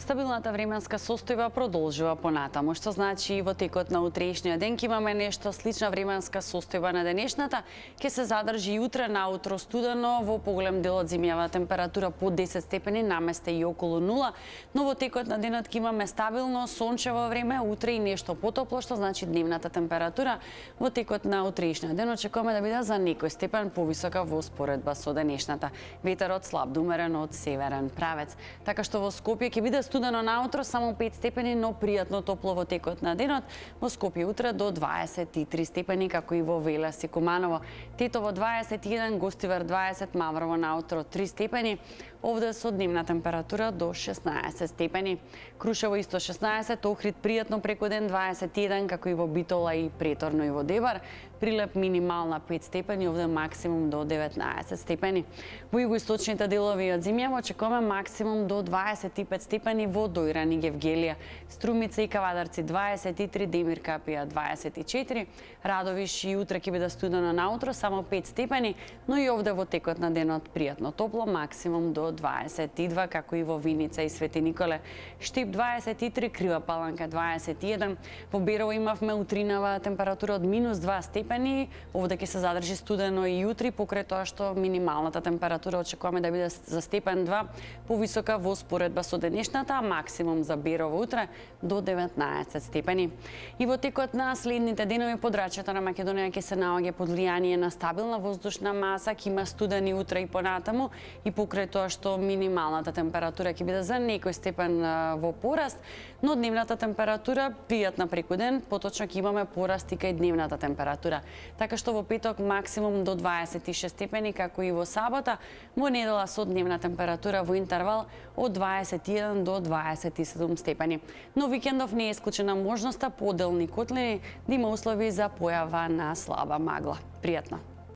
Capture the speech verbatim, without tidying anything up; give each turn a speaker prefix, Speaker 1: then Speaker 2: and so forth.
Speaker 1: Стабилната временска состојба продолжува понатаму, што значи и во текот на утрешниот ден ќе имаме нешто слична временска состојба на денешната, ќе се задржи и утре наутро студено, во поголем дел од зимјава температура под десет степени, наместе и околу нула, но во текот на денот ќе имаме стабилно сончево време, утре и нешто потопло, што значи дневната температура во текот на утрешниот ден очекуваме да биде за некој степен повисока во споредба со денешната. Ветерот слаб до умерен од северен правец, така што во Скопје ќе биде студено наутро, само пет степени, но пријатно топло во текот на денот. Во Скопје утре до дваесет и три степени, како и во Велес и Куманово. Тетово дваесет и еден, Гостивар дваесет, Маврово наутро три степени. Овде со дневна температура до шеснаесет степени. Крушево исто шеснаесет, Охрид пријатно преку ден дваесет и еден, како и во Битола и преторно и во Дебар. Прилеп минимална пет степени, овде максимум до деветнаесет степени. Во југоисточните делови од зимјава очекуваме максимум до дваесет и пет степени во Дојран и Гевгелија. Струмица и Кавадарци дваесет и три, Демир Капија дваесет и четири, Радовиш и утре ќе биде студено наутро, само пет степени, но и овде во текот на денот пријатно топло, максимум до дваесет и два, како и во Виница и Свети Николе. Штип дваесет и три, Крива Паланка дваесет и еден, во Берово имавме утринава температура од минус два степени, овде ќе се задржи студено и утре, покрај тоа што минималната температура очекуваме да биде за степен два повисока во споредба со денешната, а максимум за Берово утре до деветнаесет степени. И во текот на следните денови подрачјето на Македонија ќе се наоѓа под влијание на стабилна воздушна маса, ќе има студени утре и понатаму, и покрај тоа што минималната температура ќе биде за некој степен во пораст, но дневната температура пријатна преку ден, поточно ќе имаме пораст и кај дневната температура. Така што во петок максимум до дваесет и шест степени, како и во сабота, во недела со дневна температура во интервал од дваесет и еден до дваесет и седум степени. Но викендов не е исклучена можноста по отделни котлини да има услови за појава на слаба магла. Пријатно!